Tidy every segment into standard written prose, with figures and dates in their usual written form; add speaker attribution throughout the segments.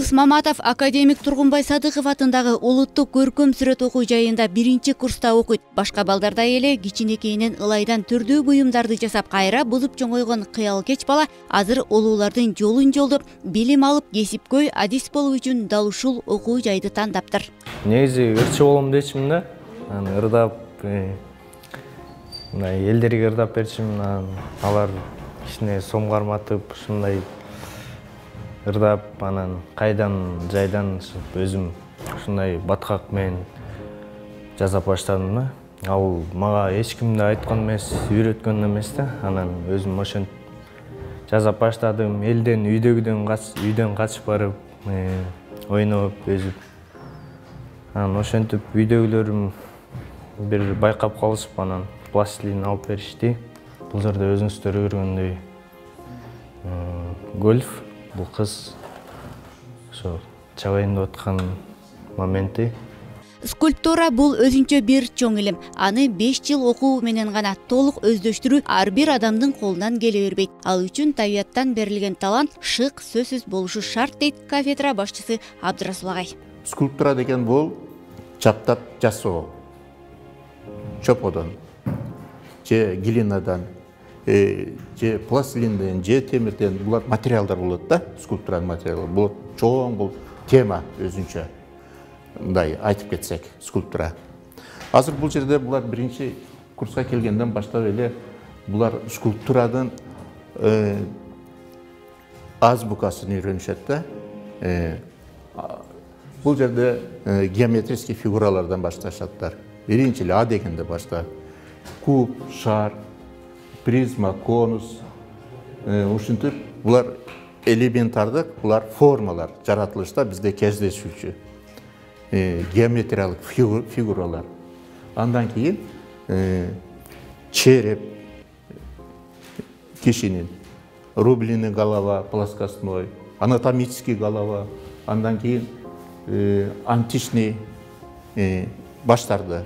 Speaker 1: Абыз Маматов академик Тургунбай Садыков атындагы улуттук көркөм сүрөт окуу жайында 1-курста окуйт. Башка балдардай эле кичинекейинен ылайдан түрдүү буюмдарды жасап, кайра бузуп чоңойгон кыялкеч бала азыр улуулардын жолун жолдоп, билим алып, кесипкөй адис болуу үчүн дал ушул окуу жайды тандаптыр.
Speaker 2: Негизи ырчы болом дечимин да. Ырдап, элдерге ырдап берчимин, алар кичине сом карматып, ушундай ырдап, анан кайдан жайдан өзүм ушундай баткак менен жасап баштадым да. Ал мага эч ким да айткан эмес, үйрөткөн эмес да. Анан өзүм ошентип жасап баштадым. Элден, үйдөн качып барып, ойноп, өзүп. Анан ошентип үйдөгүлөрүм бир байкап калышып, анан пластилин алып беришти. Бул жерде өзүңүздөр көргөндөй гольф. Бул кыз ошо чабайын деп аткан моменти.
Speaker 1: Скульптура бул өзүнчө бир чоң илим. Аны 5 жыл окуу менен гана толук өздөштүрүү ар бир адамдын колунан келе бербейт. Ал үчүн табияттан берилген талант шык сөзсүз болушу шарт, дейт кафедра башчысы Абдрасул агай.
Speaker 3: Скульптура деген бул чаптап жасоо. Чоподон, же глинадан, же пластилинден, же темирден, булар материалдар болот да, скульптуранын материалы. Бул чоң, бул тема өзүнчө. Мындай айтып кетсек, скульптура. Азыр бул жерде булар 1-курска келгенден баштап эле булар скульптуранын азбукасын үйрөнүшөт да. Бул жерде геометрический фигуралардан башташаттар. Биринчи эле А дегенде баштап куб, шар, призма, конус, ушинтип булар элементардык, булар формалар жаратылышта бизде кездешүүчү геометриялык фигуралар. Андан кийин череп кишинин, рубленый голова, плоскостной, анатомический голова, андан кийин античный баштарды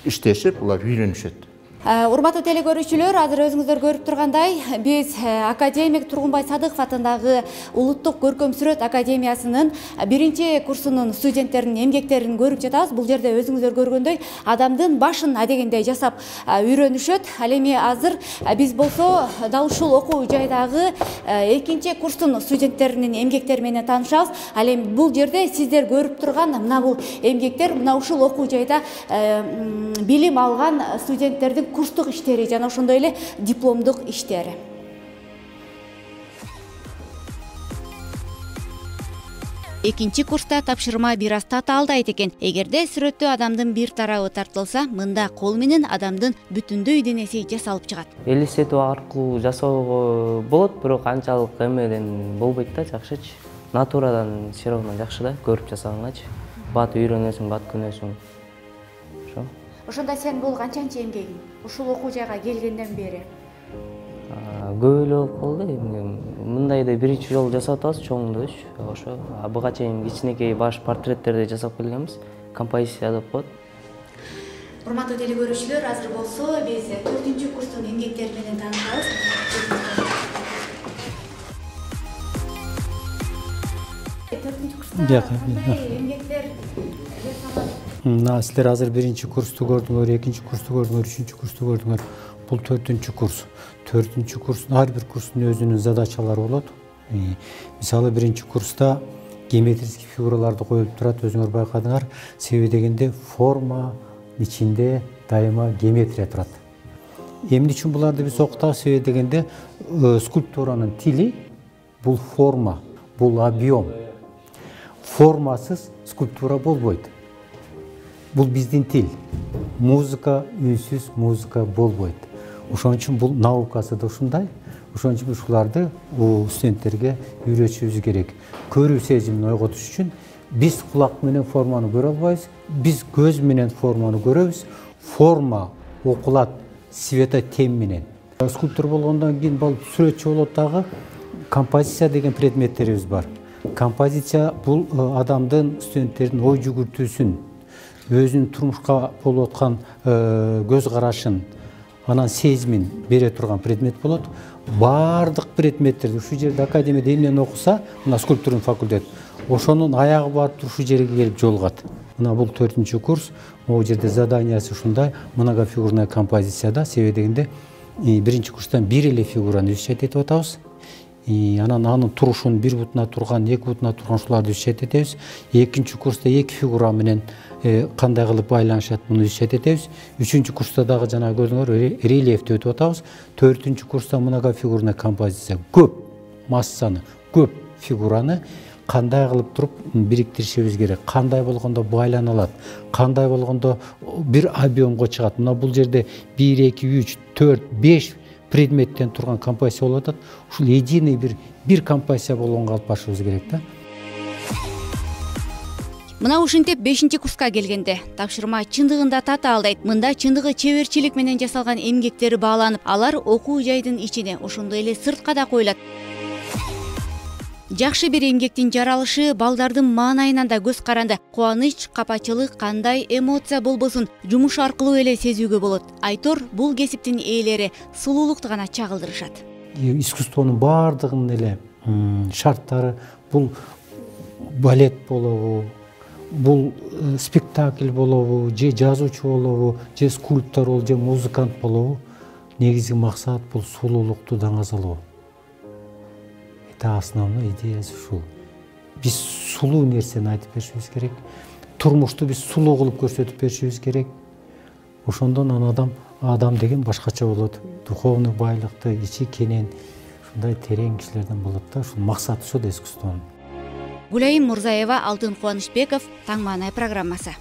Speaker 3: иштешип, булар үйрөнүшөт.
Speaker 1: Урматтуу телекөрүүчүлөр, азыр өзүңүздөр көрүп тургандай, биз академик Тургунбай Садыков атындагы улуттук көркөм сүрөт академиясынын 1-курсунун студенттеринин эмгектерин көрүп жатабыз. Бул жерде өзүңүздөр көргөндөй адамдын башын адегенде жасап үйрөнүшөт. Ал эми азыр биз болсо дал ушул окуу жайдагы 2-курстун студенттеринин эмгектери менен таанышабыз. Ал эми бул жерде сиздер көрүп турган мына бул эмгектер мына ушул окуу жайда билим алган студенттердин курстук иштери жана ошондой эле дипломдук иштери. Экинчи курста тапшырма бир аз татаалдайт экен. Эгерде сүрөттө адамдын бир тарабы тартылса, мында кол менен адамдын бүтүндөй денеси жасалып чыгат.
Speaker 4: Элестетүү аркылуу жасоого болот, бирок анчалык эмеден болбойт да, жакшычы. Натурадан все равно жакшы да, көрүп жасаганчы. Бат үйрөнөсүң, бат күнөсүң. Ошо.
Speaker 1: Ошондо сен бул канчанчы эмгегиң? Ушул окуу жайга келгенден бери?
Speaker 4: Көп эле болуп калды. Мындайды 1-чи жолу жасап атабыз, чоңдуш. Ошо буга чейин кичинекей баш портреттерди жасап келгенбиз. Композиция деп коет.
Speaker 1: Урматтуу телекөрүүчүлөр, азыр болсо биз 4-курстун эмгектери менен таанышабыз. Эмгектер
Speaker 5: силер азыр 1-курсту көрдүңөр, 2-курсту көрдүңөр, 3-курсту көрдүңөр. Бул 4-курс. 4-курстун ар бир курстун өзүнүн задачалары болот. Мисалы 1-курста геометрический фигураларды коюп турат, өзүңөр байкадыңар. Себеби дегенде форма ичинде дайыма геометрия турат. Эмне үчүн буларды биз окутабыз? Себеби дегенде скульптуранын тили бул форма, бул объем. Формасыз скульптура болбойт. Бул биздин тил. Музыка, үнсүз музыка болбойт. Ошон үчүн бул наукасы да ушундай. Ошон үчүн ушуларды студенттерге үйрөтүшүбүз керек. Көрүү сезимин ойготуш үчүн биз кулак менен форманы көрө албайбыз, биз көз менен форманы көрөбүз. Форма окулат светотем менен. Скульптор болгондон кийин бул сүрөтчү болот дагы. Композиция деген предметтерибиз бар. Композиция бул адамдын, студенттердин ой жүгүртүүсүн, өзүнүн турмушка болуп аткан көз карашын, анан сезимин бере турган предмет болот. Бардык предметтерди ушу жерде академияда эмнени окуса, мына скульптурный факультет, ошонун аягы барып турушу жерге келип жолугат. Мына бул 4-чү курс, могу жерде заданиясы ушундай многофигурная композицияда, себеби дегенде биринчи курстан бир эле фигураны изучать этип атабыз. Анан анын турушун бир бутуна турган, эки бутуна турган ушуларды изучать этебиз. Экинчи курста эки фигура менен кандай кылып байланышат, муну изучать этебиз. Үчүнчү курста дагы жана көрдүңөр рельефти өтүп атабыз. 4-чү курста многофигурная композиция, көп массаны, көп фигураны кандай кылып туруп бириктиришибиз керек, кандай болгондо байлана алат, кандай болгондо бир объемго чыгат. Мына бул жерде 1, 2, 3, 4, 5 предметтен турган композиция болуп атат. Ушул единый бир композиция болгонго алып барышыбыз керек да.
Speaker 1: Мына ушинтип 5-чи курска келгенде тапшырма чындыгында татаалдайт. Мында чындыгы чеберчилик менен жасалган эмгектери бааланып, алар окуу жайдын ичине, ошондой эле сыртка да коюлат. Жакшы бир эмгектин жаралышы балдардын маанайынан да көз каранды. Кубаныч, капачылык кандай эмоция болбосун жумуш аркылуу эле сезүүгө болот. Айтор бул кесиптин ээлери сулуулукту гана чагылдырышат.
Speaker 5: Искусствонун баардыгынын эле шарттары, бул балет болобу, бул спектакль болобу, же жазуучу болобу, же скульптор болобу, же музыкант болобу, негизги максат бул сулуулукту даңазалоо. Основной идеясы ушул. Биз сулуу нерсени айтып беришибиз керек. Турмушту биз сулуу кылып көрсөтүп беришибиз керек. Ошондон адам деген башкача болот. Духовный байлыкты, ичи кенен, ушундай терең кишилерден болот да. Ушул максаты ушул да искусствонун.
Speaker 1: Гүлайым Мурзаева, Алтын Кубанычбеков, Таң маанай программасы.